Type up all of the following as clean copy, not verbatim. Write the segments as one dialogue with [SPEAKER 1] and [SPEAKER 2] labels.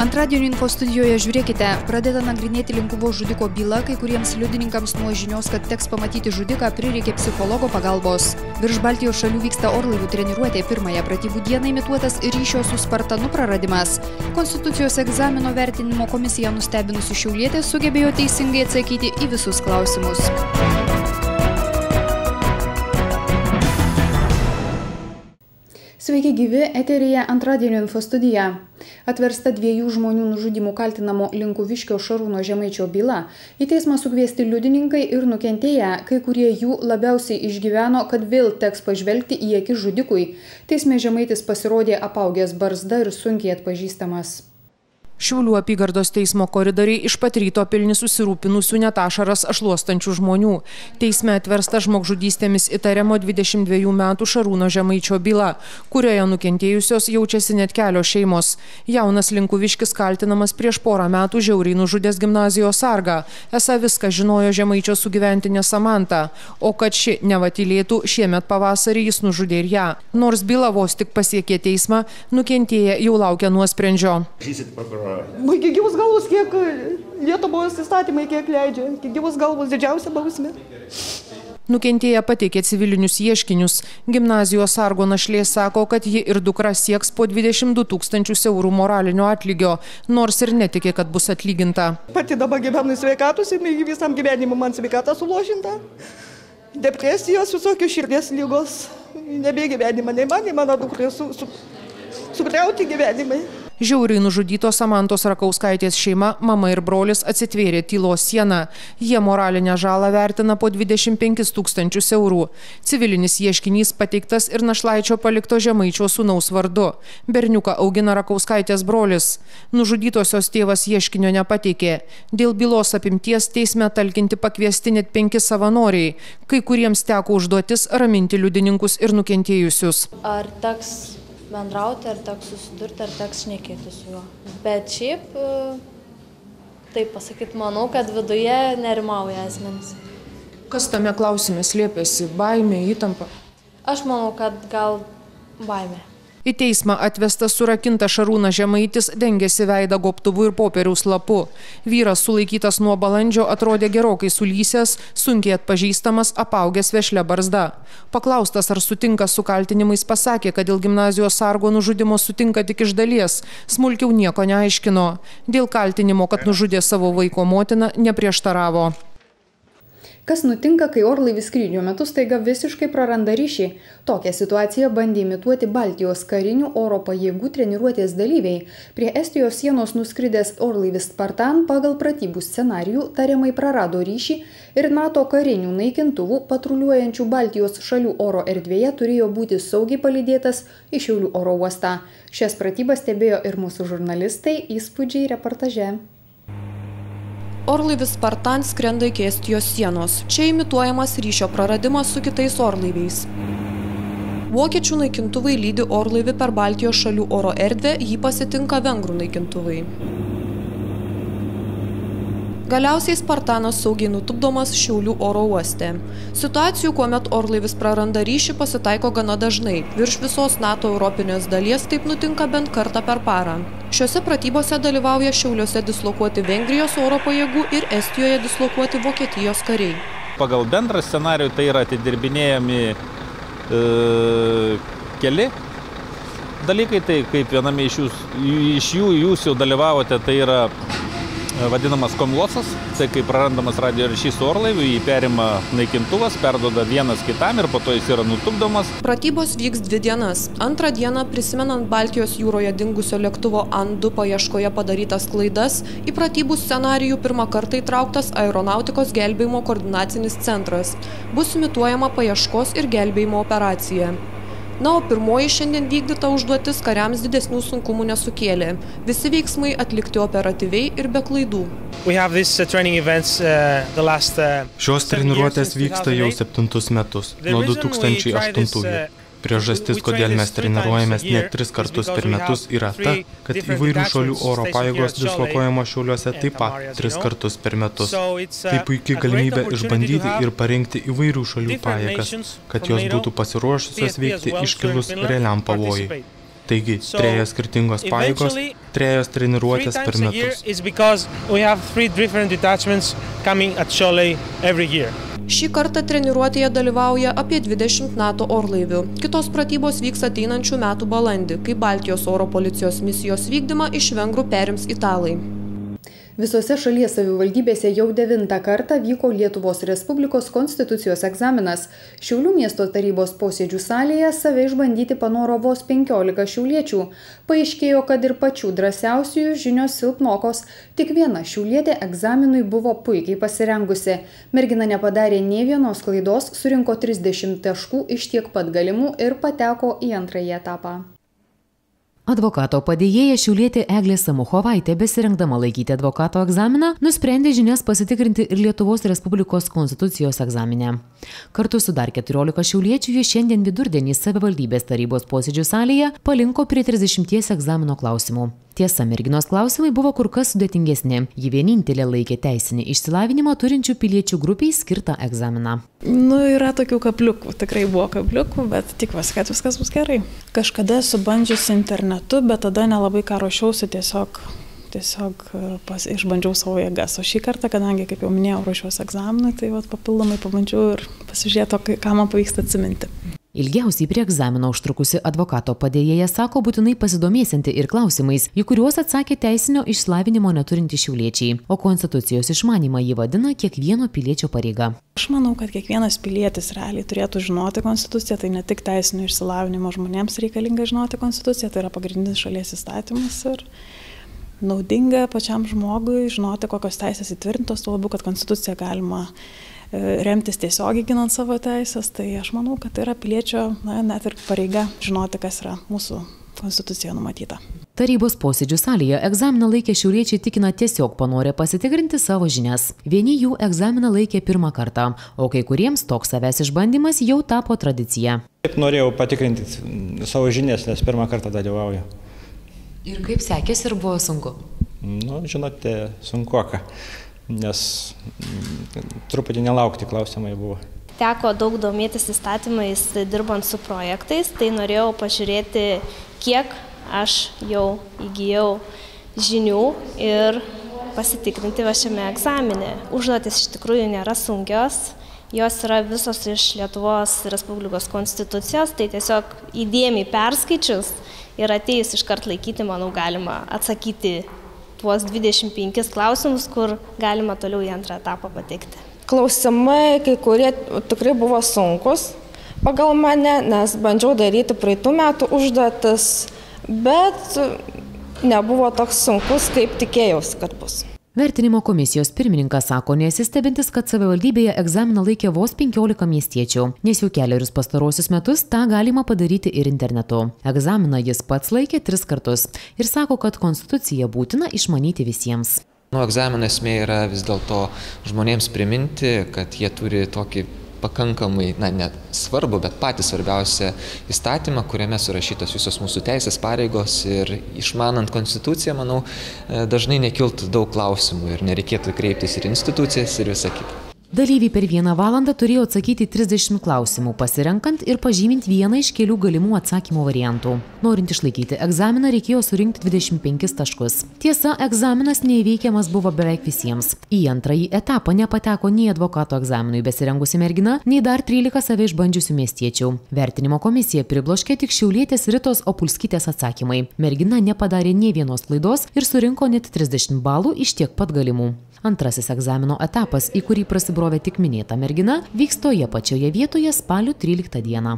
[SPEAKER 1] Antradienio info studijoje žiūrėkite, pradeda nagrinėti Linkuvos žudiko byla, kai kuriems liudininkams nuo žinios, kad teks pamatyti žudiką, prireikė psichologo pagalbos. Virš Baltijos šalių vyksta orlaivių treniruotė, pirmąją pratybų dieną imituotas ryšio su Spartanu praradimas. Konstitucijos egzamino vertinimo komisija nustebinusi šiaulietė sugebėjo teisingai atsakyti į visus klausimus. Sveiki gyvi, eteryje antradienio info studija. Atversta 2 žmonių nužudymų kaltinamo Linkuviškio Šarūno Žemaičio byla. Į teismą sukviesti liudininkai ir nukentėję, kai kurie jų labiausiai išgyveno, kad vėl teks pažvelgti į akis žudikui. Teisme Žemaitis pasirodė apaugęs barzda ir sunkiai atpažįstamas.
[SPEAKER 2] Šiaulių apygardos teismo koridoriai iš pat ryto pilni susirūpinusių net ašaras šluostančių žmonių. Teisme atversta žmogžudystėmis įtariamo 22 metų Šarūno Žemaičio byla, kurioje nukentėjusios jaučiasi net kelios šeimos. Jaunas Linkuviškis kaltinamas prieš porą metų žiauriai nužudęs gimnazijos sargą. Esą viską žinojo Žemaičio sugyventinė Samanta, o kad ši nevatylėtų, šiemet pavasarį jis nužudė ir ją. Nors byla vos tik pasiekė teismą, nukentėję jau laukia nuosprendžio.
[SPEAKER 3] Iki gyvos galvos, kiek Lietuvos įstatymai kiek leidžia. Iki gyvos galvos didžiausia bausmė.
[SPEAKER 2] Nukentėję pateikė civilinius ieškinius. Gimnazijos sargo našlė sako, kad ji ir dukra sieks po 22 000 eurų moralinio atlygio, nors ir netikė, kad bus atlyginta.
[SPEAKER 3] Pati dabar gyvenu sveikatus ir visam gyvenimu man sveikata sulošinta. Depresijos, visokios širdies lygos. Nebegyvenimą, nei man, nei mano dukrai sugriauti gyvenimai.
[SPEAKER 2] Žiauriai nužudytos Samantos Rakauskaitės šeima, mama ir brolis atsitvėrė tylos sieną. Jie moralinę žalą vertina po 25 000 eurų. Civilinis ieškinys pateiktas ir našlaičio palikto Žemaičio sūnaus vardu. Berniuką augina Rakauskaitės brolis. Nužudytosios tėvas ieškinio nepateikė. Dėl bylos apimties teisme talkinti pakviesti net 5 savanoriai. Kai kuriems teko užduotis raminti liudininkus ir nukentėjusius.
[SPEAKER 4] Ar teks bendrauti, ar teks susidurti, ar teks šnekėti su juo. Bet šiaip, taip pasakyti, manau, kad viduje nerimauja asmenys.
[SPEAKER 2] Kas tame klausime slėpėsi? Baimė, įtampa?
[SPEAKER 4] Aš manau, kad gal baimė.
[SPEAKER 2] Į teismą atvestas surakinta Šarūnas Žemaitis dengėsi veidą gobtuvu ir popieriaus lapu. Vyras sulaikytas nuo balandžio atrodė gerokai sulysęs, sunkiai atpažįstamas, apaugęs vešlia barzda. Paklaustas, ar sutinka su kaltinimais, pasakė, kad dėl gimnazijos sargo nužudimo sutinka tik iš dalies, smulkiau nieko neaiškino. Dėl kaltinimo, kad nužudė savo vaiko motiną, neprieštaravo.
[SPEAKER 1] Kas nutinka, kai orlaivis skrydžio metu staiga visiškai praranda ryšį? Tokią situaciją bandė imituoti Baltijos karinių oro pajėgų treniruotės dalyviai. Prie Estijos sienos nuskridęs orlaivis Spartan pagal pratybų scenarijų tariamai prarado ryšį ir NATO karinių naikintuvų patruliuojančių Baltijos šalių oro erdvėje turėjo būti saugiai palydėtas į Šiaulių oro uostą. Šias pratybas stebėjo ir mūsų žurnalistai, įspūdžiai reportaže.
[SPEAKER 5] Orlaivis Spartan skrenda iki Estijos sienos. Čia imituojamas ryšio praradimas su kitais orlaiviais. Vokiečių naikintuvai lydi orlaivį per Baltijos šalių oro erdvę, jį pasitinka vengrų naikintuvai. Galiausiai Spartanas saugiai nutupdomas Šiaulių oro uoste. Situacijų, kuomet orlaivis praranda ryšį, pasitaiko gana dažnai. Virš visos NATO europinės dalies taip nutinka bent kartą per parą. Šiuose pratybose dalyvauja Šiauliuose dislokuoti Vengrijos oro pajėgų ir Estijoje dislokuoti Vokietijos kariai.
[SPEAKER 6] Pagal bendrą scenarijų tai yra atidirbinėjami keli dalykai, tai kaip viename iš jų jūs jau dalyvavote, tai yra vadinamas komlosas, tai kai prarandamas radio ryšys su orlaiviu, jį perima naikintuvas, perduoda vienas kitam ir po to jis yra nutupdomas.
[SPEAKER 5] Pratybos vyks 2 dienas. Antrą dieną, prisimenant Baltijos jūroje dingusio lėktuvo An-2 paieškoje padarytas klaidas, į pratybų scenarijų pirmą kartą įtrauktas Aeronautikos gelbėjimo koordinacinis centras. Bus imituojama paieškos ir gelbėjimo operacija. Na, o pirmoji šiandien vykdyta užduotis kariams didesnių sunkumų nesukėlė. Visi veiksmai atlikti operatyviai ir be klaidų.
[SPEAKER 7] Šios treniruotės vyksta jau 7 metus, nuo 2008. Priežastis, kodėl mes treniruojamės net 3 kartus per metus, yra ta, kad įvairių šalių oro pajėgos dislokuojamos Šiauliuose taip pat 3 kartus per metus. Tai puikiai galimybė išbandyti ir parengti įvairių šalių pajėgas, kad jos būtų pasiruošusios veikti iškilus realiam pavojui. Taigi, 3 skirtingos pajėgos, 3 treniruotės per metus.
[SPEAKER 5] Šį kartą treniruotėje dalyvauja apie 20 NATO orlaivių. Kitos pratybos vyks ateinančių metų balandį, kai Baltijos oro policijos misijos vykdymą iš vengrų perims italai.
[SPEAKER 1] Visose šalies savivaldybėse jau 9 kartą vyko Lietuvos Respublikos konstitucijos egzaminas. Šiaulių miesto tarybos posėdžių salėje save išbandyti panoro vos 15 šiauliečių. Paaiškėjo, kad ir pačių drąsiausiųjų žinios silpnokos. Tik viena šiaulietė egzaminui buvo puikiai pasirengusi. Mergina nepadarė nė vienos klaidos, surinko 30 taškų iš tiek pat galimų ir pateko į antrąjį etapą.
[SPEAKER 8] Advokato padėjėja šiaulietė Eglė Samuchovaitė, besirengdama laikyti advokato egzaminą, nusprendė žinias pasitikrinti ir Lietuvos Respublikos konstitucijos egzamine. Kartu su dar 14 šiauliečių jie šiandien vidurdienį savivaldybės tarybos posėdžių salėje palinko prie 30 egzamino klausimų. Tiesa, merginos klausimai buvo kur kas sudėtingesni. Ji vienintelė laikė teisinį išsilavinimą turinčių piliečių grupiai skirtą egzaminą.
[SPEAKER 9] Yra tokių kabliukų, tikrai buvo kabliukų, bet tikiuosi, kad viskas bus gerai. Kažkada esu bandžiusi internetu, bet tada nelabai ką ruošiausi, tiesiog išbandžiau savo jėgas. O šį kartą, kadangi, kaip jau minėjau, ruošiausi egzaminui, tai papildomai pabandžiau ir pasižiūrėti, ką man pavyksta atsiminti.
[SPEAKER 8] Ilgiausiai prie egzamino užtrukusi advokato padėjėja sako būtinai pasidomėsianti ir klausimais, į kuriuos atsakė teisinio išsilavinimo neturintys šiauliečiai, o konstitucijos išmanymą jį vadina kiekvieno piliečio pareiga.
[SPEAKER 9] Aš manau, kad kiekvienas pilietis realiai turėtų žinoti konstituciją, tai ne tik teisinio išsilavinimo žmonėms reikalinga žinoti konstituciją, tai yra pagrindinis šalies įstatymas ir naudinga pačiam žmogui žinoti, kokios teisės įtvirtintos, tuo labiau, kad konstituciją galima remtis tiesiogiai ginant savo teisės, tai aš manau, kad tai yra piliečio net ir pareiga žinoti, kas yra mūsų konstitucijoje numatyta.
[SPEAKER 8] Tarybos posėdžių salėje egzaminą laikę šiauliečiai tikina tiesiog panorė pasitikrinti savo žinias. Vieni jų egzaminą laikė pirmą kartą, o kai kuriems toks savęs išbandymas jau tapo tradicija.
[SPEAKER 10] Taip norėjau patikrinti savo žinias, nes pirmą kartą dalyvauju.
[SPEAKER 8] Ir kaip sekėsi ir buvo sunku?
[SPEAKER 10] Žinote, sunkuoka. Nes truputį nelaukti klausimai buvo.
[SPEAKER 11] Teko daug domėtis įstatymais, dirbant su projektais, tai norėjau pažiūrėti, kiek aš jau įgijau žinių ir pasitikrinti šiame egzamine. Užduotis iš tikrųjų nėra sunkios, jos yra visos iš Lietuvos Respublikos konstitucijos, tai tiesiog įdėmiai perskaičius ir atėjus iškart laikyti, manau, galima atsakyti tuos 25 klausimus, kur galima toliau į antrą etapą patekti.
[SPEAKER 12] Klausimai, kai kurie tikrai buvo sunkus pagal mane, nes bandžiau daryti praeitų metų užduotis, bet nebuvo toks sunkus, kaip tikėjausi, kad bus.
[SPEAKER 8] Vertinimo komisijos pirmininkas sako, nesistebintis, kad savivaldybėje egzaminą laikė vos 15 miestiečių, nes jau kelerius pastarosius metus tą galima padaryti ir internetu. Egzaminą jis pats laikė 3 kartus ir sako, kad konstituciją būtina išmanyti visiems.
[SPEAKER 13] Egzamino esmė yra vis dėlto žmonėms priminti, kad jie turi tokį pakankamai, ne svarbu, bet patį svarbiausią įstatymą, kuriame surašytos visos mūsų teisės, pareigos ir išmanant konstituciją, manau, dažnai nekiltų daug klausimų ir nereikėtų kreiptis ir institucijas ir visą kitą.
[SPEAKER 8] Dalyviai per 1 valandą turėjo atsakyti 30 klausimų, pasirenkant ir pažymint vieną iš kelių galimų atsakymų variantų. Norint išlaikyti egzaminą, reikėjo surinkti 25 taškus. Tiesa, egzaminas neįveikiamas buvo beveik visiems. Į antrąjį etapą nepateko nei advokato egzaminui besirengusi mergina, nei dar 13 save išbandžiusių miestiečių. Vertinimo komisija pribloškė tik šiaulietės Ritos Opulskytės atsakymai. Mergina nepadarė nė vienos klaidos ir surinko net 30 balų iš tiek pat galimų. Antrasis egzamino etapas, į kurį prasibrovė tik minėta mergina, vyks toje pačioje vietoje spalio 13 dieną.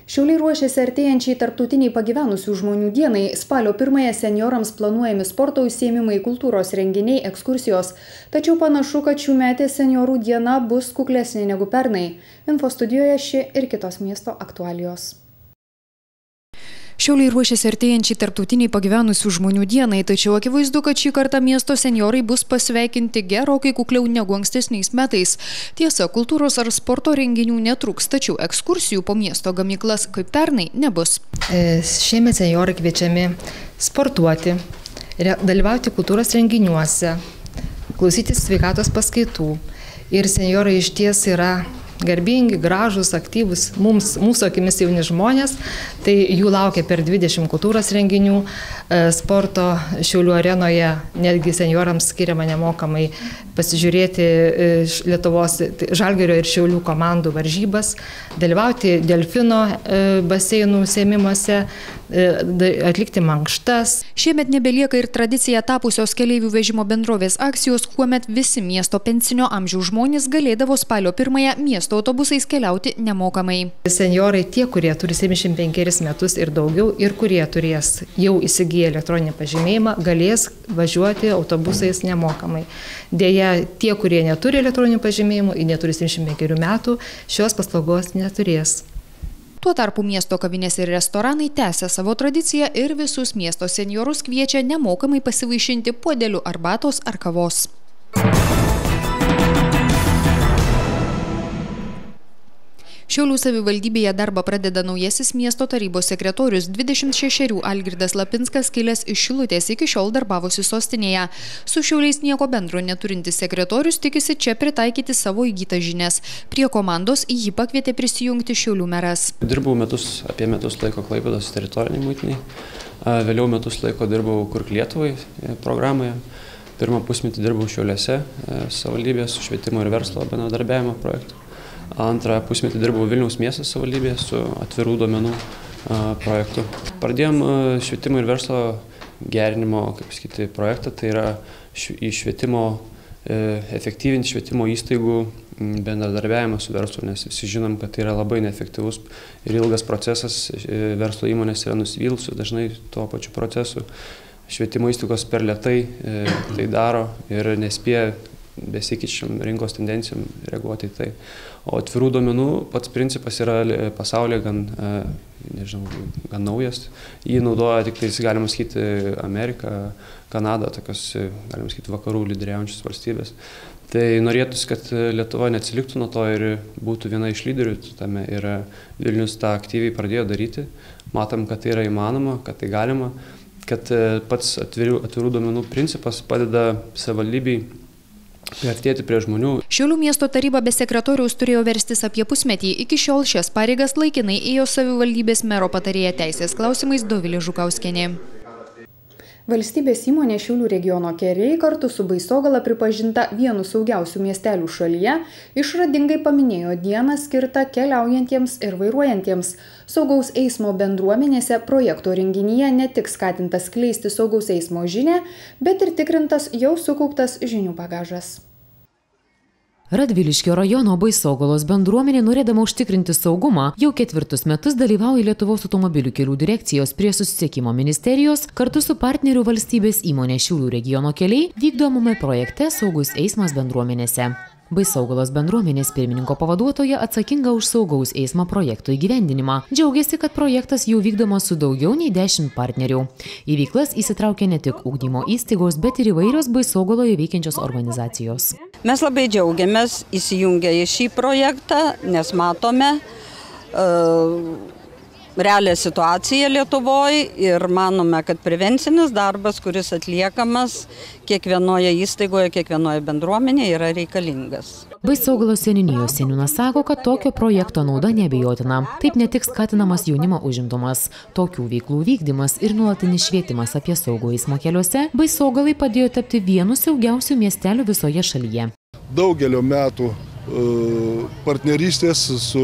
[SPEAKER 1] Šiauliai ruošiasi artėjančiai tarptautiniai pagyvenusių žmonių dienai. Spalio 1-ąją seniorams planuojami sporto užsiėmimai, kultūros renginiai, ekskursijos. Tačiau panašu, kad šiųmetė seniorų diena bus kuklesnė negu pernai. Info studijoje ši ir kitos miesto aktualijos.
[SPEAKER 14] Šiauliai ruošiasi artėjančiai tarptautiniai pagyvenusių žmonių dienai, tačiau akivaizdu, kad šį kartą miesto senjorai bus pasveikinti gerokai kukliau negu ankstesniais metais. Tiesa, kultūros ar sporto renginių netruks, tačiau ekskursijų po miesto gamyklas kaip pernai nebus.
[SPEAKER 15] Šiemet senjorai kviečiami sportuoti, dalyvauti kultūros renginiuose, klausytis sveikatos paskaitų. Ir senjorai iš ties yra garbingi, gražus, aktyvus, mūsų akimis jauni žmonės. Tai jų laukia per 20 kultūros renginių, sporto Šiaulių arenoje, netgi seniorams skiriama nemokamai pasižiūrėti Lietuvos Žalgirio ir Šiaulių komandų varžybas, dalyvauti delfino baseinų užsiėmimuose, atlikti mankštas.
[SPEAKER 14] Šiemet nebelieka ir tradicija tapusios keleivių vežimo bendrovės akcijos, kuomet visi miesto pensinio amžiaus žmonės galėdavo spalio 1 miesto autobusais keliauti nemokamai.
[SPEAKER 15] Senjorai, tie, kurie turi 75 metus ir daugiau ir kurie turės jau įsigiję elektroninį pažymėjimą, galės važiuoti autobusais nemokamai. Deja, tie, kurie neturi elektroninių pažymėjimų ir neturi 75 metų, šios paslaugos neturės.
[SPEAKER 14] Tuo tarpu miesto kavinės ir restoranai tęsia savo tradiciją ir visus miesto senjorus kviečia nemokamai pasivaišinti puodeliu arbatos ar kavos. Šiaulių savivaldybėje darbą pradeda naujasis miesto tarybos sekretorius 26 Algirdas Lapinskas, kilęs iš Šilutės, iki šiol darbavosi sostinėje. Su Šiauliais nieko bendro neturintis sekretorius tikisi čia pritaikyti savo įgytas žinias. Prie komandos į jį pakvietė prisijungti Šiaulių meras.
[SPEAKER 16] Dirbau apie metus laiko Klaipėdos teritoriniai muitiniai, vėliau metus laiko dirbau Kurk Lietuvai programoje. Pirmą pusmetį dirbau Šiauliuose savivaldybės su švietimo ir verslo bendradarbiavimo projektu. Antrą pusmetį dirbau Vilniaus miesto savivaldybėje su atvirų duomenų projektu. Pradėjom švietimo ir verslo gerinimo, projektą, tai yra į švietimo, efektyvinti švietimo įstaigų bendradarbiavimą su verslu, nes visi žinom, kad tai yra labai neefektyvus ir ilgas procesas, verslo įmonės yra nusivylusios dažnai tuo pačiu procesu. Švietimo įstaigos per lėtai tai daro ir nespėja besikeičiam rinkos tendencijom reaguoti į tai. O atvirų duomenų pats principas yra pasaulyje gan naujas. Jį naudoja tik tai, galima sakyti, Amerika, Kanada, tokios, galima sakyti, vakarų lyderiaujančios valstybės. Tai norėtųsi, kad Lietuva neatsiliktų nuo to ir būtų viena iš lyderių tame. Ir Vilnius tą aktyviai pradėjo daryti. Matom, kad tai yra įmanoma, kad tai galima, kad pats atvirų duomenų principas padeda savivaldybei priartėti prie žmonių.
[SPEAKER 14] Šiaulių miesto taryba be sekretoriaus turėjo verstis apie pusmetį. Iki šiol šias pareigas laikinai ėjo savivaldybės mero patarėja teisės klausimais Dovilė Žukauskienė.
[SPEAKER 1] Valstybės įmonė Šiaulių regiono keliai kartu su Baisogala pripažinta vienu saugiausių miestelių šalyje, išradingai paminėjo dieną skirtą keliaujantiems ir vairuojantiems. Saugaus eismo bendruomenėse projekto renginyje ne tik skatintas skleisti saugaus eismo žinią, bet ir tikrintas jau sukauptas žinių bagažas.
[SPEAKER 8] Radviliškio rajono Baisogalos bendruomenė, norėdama užtikrinti saugumą, jau 4 metus dalyvauja Lietuvos automobilių kelių direkcijos prie susisiekimo ministerijos kartu su partnerių valstybės įmonė Šiaulių regiono keliai vykdomame projekte Saugus eismas bendruomenėse. Baisogalos bendruomenės pirmininko pavaduotoja atsakinga už saugaus eismo projekto įgyvendinimą. Džiaugiasi, kad projektas jau vykdomas su daugiau nei 10 partnerių. Į veiklas įsitraukia ne tik ugdymo įstaigos, bet ir įvairios Baisogaloje veikiančios organizacijos.
[SPEAKER 17] Mes labai džiaugiamės įsijungę į šį projektą, nes matome realią situaciją Lietuvoje ir manome, kad prevencinis darbas, kuris atliekamas kiekvienoje įstaigoje, kiekvienoje bendruomenėje, yra reikalingas.
[SPEAKER 8] Baisogalos seniūnijos seniūnas sako, kad tokio projekto nauda neabejotina. Taip ne tik skatinamas jaunimo užimtumas, tokių veiklų vykdymas ir nuolatinis švietimas apie saugų eismo keliuose Baisogalai padėjo tapti vienu saugiausių miestelių visoje šalyje.
[SPEAKER 18] Daugelio metų partnerystės su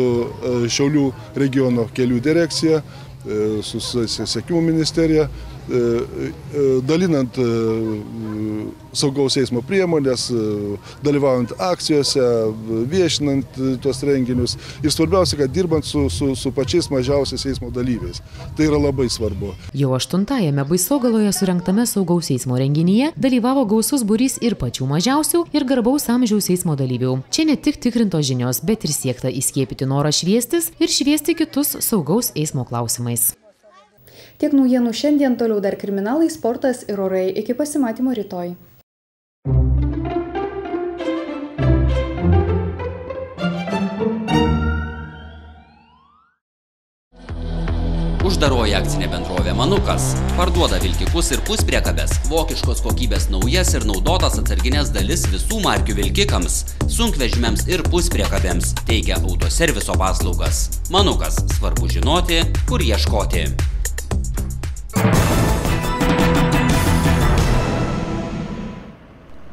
[SPEAKER 18] Šiaulių regiono kelių direkcija, su susisiekimo ministerija, dalinant saugaus eismo priemonės, dalyvaujant akcijose, viešinant tuos renginius ir svarbiausia, kad dirbant su pačiais mažiausiais eismo dalyviais. Tai yra labai svarbu.
[SPEAKER 8] Jau 8-ame Baisogaloje surengtame saugaus eismo renginyje dalyvavo gausus būrys ir pačių mažiausių ir garbaus amžiaus eismo dalyvių. Čia ne tik tikrintos žinios, bet ir siekta įskiepyti norą šviestis ir šviesti kitus saugaus eismo klausimais.
[SPEAKER 1] Tiek naujienų šiandien, toliau dar kriminalai, sportas ir orai. Iki pasimatymo rytoj.
[SPEAKER 19] Uždaroji akcinė bendrovė Manukas parduoda vilkikus ir puspriekabes, vokiškos kokybės naujas ir naudotas atsarginės dalis visų markių vilkikams, sunkvežimiams ir puspriekabėms, teikia autoserviso paslaugas. Manukas, svarbu žinoti, kur ieškoti.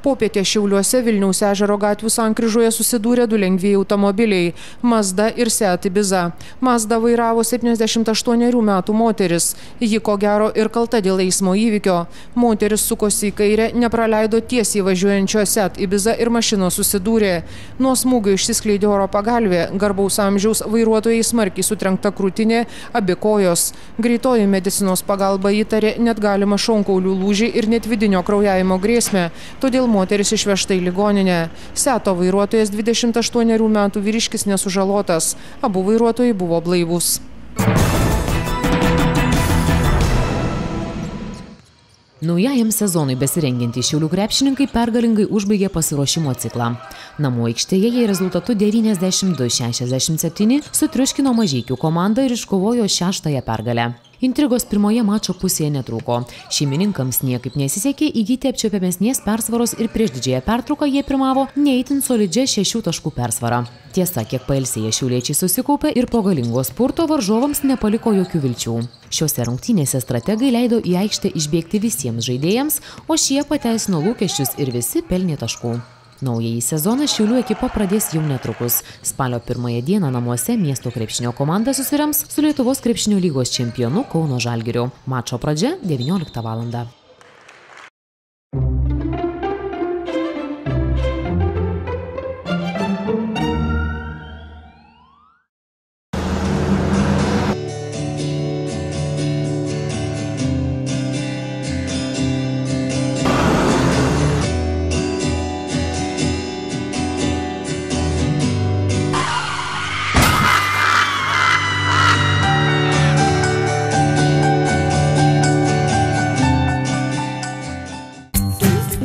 [SPEAKER 2] Popietė Šiauliuose Vilniaus ežero gatvių sankryžoje susidūrė du lengvieji automobiliai – Mazda ir Seat Ibiza. Mazda vairavo 78 metų moteris. Ji ko gero ir kalta dėl eismo įvykio. Moteris sukosi į kairę, nepraleido tiesiai važiuojančio Seat Ibiza ir mašinos susidūrė. Nuo smūgio išsiskleidė oro pagalvė, garbaus amžiaus vairuotojai smarkiai sutrenkta krūtinė, abi kojos. Greitoji medicinos pagalba įtarė net galimą šonkaulių lūžį ir net vidinio kraujavimo grėsmę. Todėl moteris išvežta į ligoninę. Seato vairuotojas 28 metų vyriškis nesužalotas. Abu vairuotojai buvo blaivūs.
[SPEAKER 8] Naujajam sezonui besirengiantys Šiaulių krepšininkai pergalingai užbaigė pasiruošimo ciklą. Namų aikštėje jie rezultatu 92-67 sutriuškino Mažeikių komandą ir iškovojo 6-ąją pergalę. Intrigos pirmoje mačo pusėje netrūko. Šeimininkams niekaip nesisekė įgyti apčiuopiamesnės persvaros ir prieš didžiąją pertrauką jie pirmavo ne itin solidžia 6 taškų persvarą. Tiesa, kiek pailsėję šiauliečiai susikaupė ir po galingo spurto varžovams nepaliko jokių vilčių. Šiose rungtynėse strategai leido į aikštę išbėgti visiems žaidėjams, o šie pateisino lūkesčius ir visi pelnė taškų. Naująjį sezoną Šiaulių ekipa pradės jau netrukus. Spalio 1 dieną namuose miesto krepšinio komanda susirems su Lietuvos krepšinio lygos čempionu Kauno Žalgiriu. Mačo pradžia 19 val.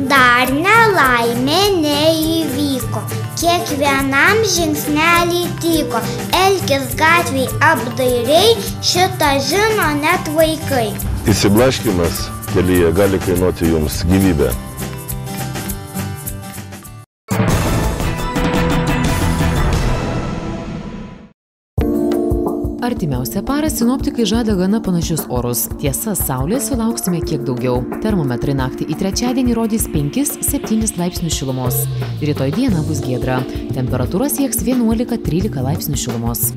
[SPEAKER 20] Dar nelaimė neįvyko, kiekvienam žingsnelį tyko, elkis gatvėj apdairiai, šitą žino net vaikai.
[SPEAKER 21] Įsiblaškymas kelyje gali kainuoti jums gyvybę.
[SPEAKER 8] Artimiausią parą sinoptikai žada gana panašius orus. Tiesa, saulės sulauksime kiek daugiau. Termometrai naktį į trečiadienį rodys 5-7 laipsnių šilumos. Rytoj dieną bus giedra. Temperatūra sieks 11-13 laipsnių šilumos.